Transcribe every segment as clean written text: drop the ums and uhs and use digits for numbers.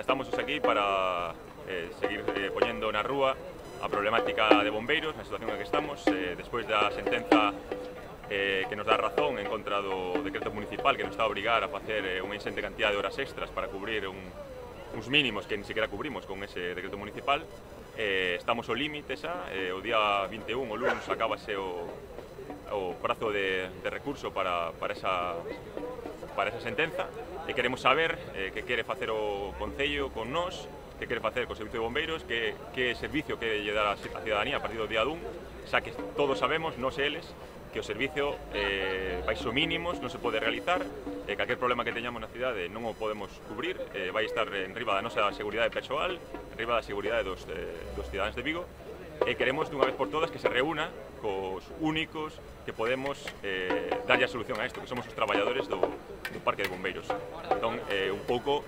estamos aquí para seguir poñendo na rúa a problemática de bombeiros, na situación en que estamos, despois da sentenza que nos dá razón en contra do decreto municipal que nos está a obrigar a facer unha insente cantidad de horas extras para cubrir uns mínimos que ni sequera cubrimos con ese decreto municipal. Estamos ao límite xa, o día 21, o lunes, acabase o prazo de recurso para esa sentenza, e queremos saber que quere facer o Concello con nós, que quere facer co Servicio de Bombeiros, que servicio quere lle dar a cidadanía a partir do día 1, xa que todos sabemos, nós e eles, que o servicio baixo mínimos non se pode realizar, calquer problema que teñamos na cidade non o podemos cubrir, vai estar en riba da nosa seguridade persoal, en riba da seguridade dos cidadáns de Vigo, e queremos dunha vez por todas que se reúna cos únicos que podemos darlle a solución a isto, que somos os traballadores do Parque de Bombeiros. Entón, un pouco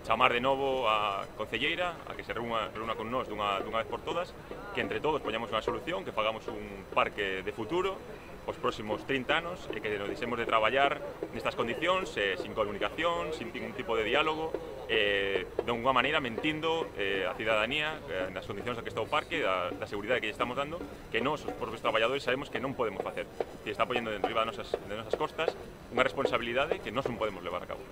chamar de novo a concelleira a que se reúna con nós dunha vez por todas, que entre todos poñamos unha solución, que fagamos un parque de futuro os próximos 30 anos e que nos deixemos de traballar nestas condicións, sin comunicación, sin ningún tipo de diálogo, de unha maneira mentindo a cidadanía nas condicións que está o parque, da seguridade que lle estamos dando, que nós, os propios traballadores, sabemos que non podemos facer, que está poñendo en riba de nosas costas unha responsabilidade que nós non podemos levar a cabo.